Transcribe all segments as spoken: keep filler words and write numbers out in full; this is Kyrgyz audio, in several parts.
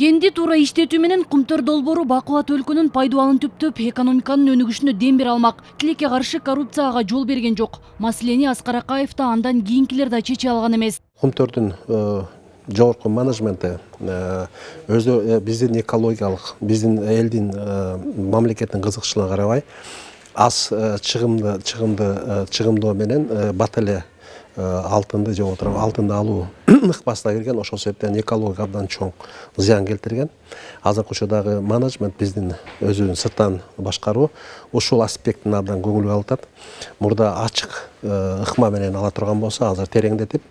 Кенди туура иштетүү менен Кумтөр долбоору бакубат өлкөнүн пайдубалын түптөп, экономиканын өнүгүшүнө дем бере алмак. Тилекке каршы коррупцияга жол берген жок. Маселени Аскар Акаев да андан кийинкилер да чече алган эмес. Кумтөрдүн жогорку менеджменти өзү биздин экологиялык, биздин элдин, мамлекеттин кызыкчылыгына карабай аз чыгымды чыгымды чыгымдоо менен бат эле алтынды же отуруп алтынды алуу ыкпасына кирген. Ошол себептен экологияга абдан чоң зыян келтирген. Азыркы учурдагы менеджмент биздин өзүнүн сырттан башкаруу ушул аспектин абдан көңүл калтат. Мурда ачык ыкма менен ала турган болсо, азыр тереңдетип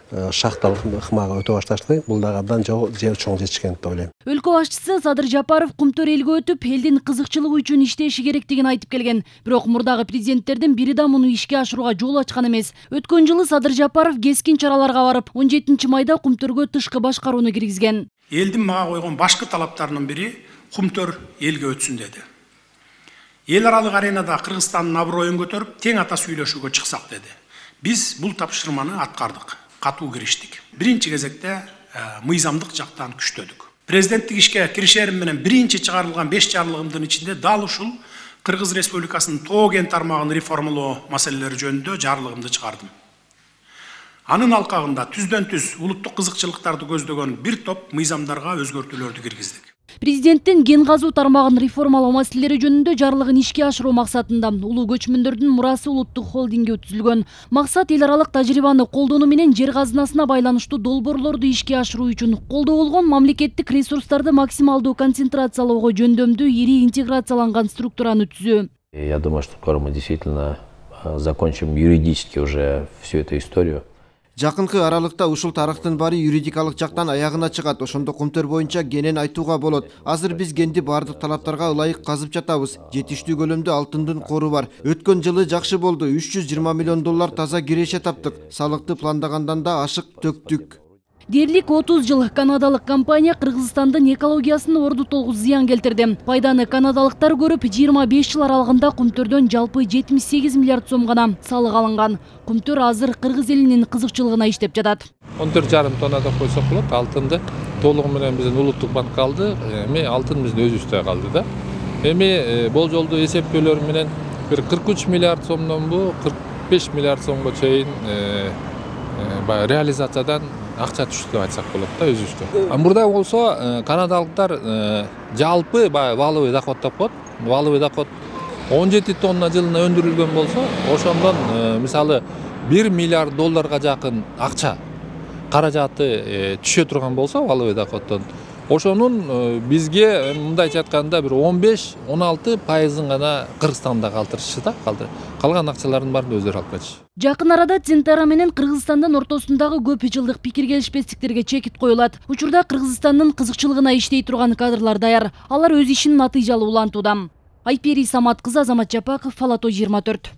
шахталык ыкмага өтө башташты. Бул дагы абдан чоң жетишкен деп ойлойм. Өлкө башчысы Садыр Жапаров Кумтөр элге өтүп, элдин кызыкчылыгы үчүн иштеши керектигин айтып келген. Бирок мурдагы президенттердин бири да муну ишке ашырууга жол ачкан эмес. Өткөн жылы Садыр Жапаров кескин чараларга барып, он жетинчи майда Кумтөргө тышкы башкарууну киргизген. Элдин мага койгон башкы талаптарынын бири Кумтөр элге өтсүн деди. Эл аралык аренада Кыргызстандын аброюн көтөрүп, тең ата сүйлөшүүгө чыксак деди. Биз бул тапшырманы аткардык. Катуу кириштик. Биринчи кезекте мыйзамдык жактан күчтөдүк. Президенттик ишке киришерим менен биринчи чыгарылган беш жарлыгымдын ичинде дал ушул Кыргыз Республикасынын тоо кен тармагын реформалоо маселелери жөнүндө жарлыгымды чыгардым. Анын алкагында түздөн түз улуттук кызыкчылыктарды көздөгөн бир топ мыйзамдарга өзгөртүүлөрдү киргиздик. Президенттин кен казуу тармагын реформалоо маселелери жөнүндө жарлыгын ишке ашыруу максатында улуу көчмөндөрдүн мурасы улуттук холдинги өткүзүлгөн. Максат эл аралык тажрыйбаны колдонуу менен жер казынасына байланыштуу долбоорлорду ишке ашыруу үчүн колдо болгон мамлекеттик ресурстарды максималдуу концентрациялоого жөндөмдүү ири интеграцияланган структураны түзүү. Я думаю, что скоро мы действительно закончим юридически уже всю эту историю. Жакынкы аралыкта ушул тарыхтын баары юридикалык жактан аягына чыгат. Ошондо Кумтөр боюнча кенен айтууга болот. Азыр биз кенди баардык талаптарга ылайык казып жатабыз. Жетиштүү көлөмдө алтындын кору бар. Өткөн жылы жакшы болду. үч жүз жыйырма миллион доллар таза киреше таптык. Салыкты пландагандан да ашык төктүк. Дерлик отуз жыл канадалык компания Кыргызстандын экологиясына орду тогуз зыян келтирди. Пайданы канадалыктар көрүп, жыйырма беш жыл аралыгында Кумтөрдөн жалпы жетимиш сегиз миллиард сом гана салык алынган. Кумтөр азыр Кыргыз элинин кызыкчылыгына иштеп жатат. он төрт жарым тонна деп койсок болот. Алтынды толугу менен биздин улуттук банкка алды. Эми алтын биздин өзүбүздө калды да. Эми болжолдуу эсептөөлөр менен бир кырк үч миллиард сомдон бу кырк беш миллиард сомго чейин баягы реализациядан акча түштү деп айтсак болот да өзүбүздө. Мурда болсо канадалыктар жалпы баягы валовый доход деп коет. Валовый доход он жети тонна жылына өндүрүлгөн болсо, ошондон мисалы бир миллиард долларга жакын акча каражаты түшө турган болсо валовый доходдон, ошонун бизге мындайча айтканда бир он беш он алты пайызын гана Кыргызстанда калтырышчы да, калтыр. Калган акчалардын баарын өздөрү алып кетишти. Жакын арада Центара менен Кыргызстандын ортосундагы көп жылдык пикир келишпестиктерге чекит коюлат. Учурда Кыргызстандын кызыкчылыгына иштей турган кадрлар даяр. Алар өз ишин натыйжалуу улантууда. Айпери Самат кызы, Азамат Жапаков, Фалато жыйырма төрт.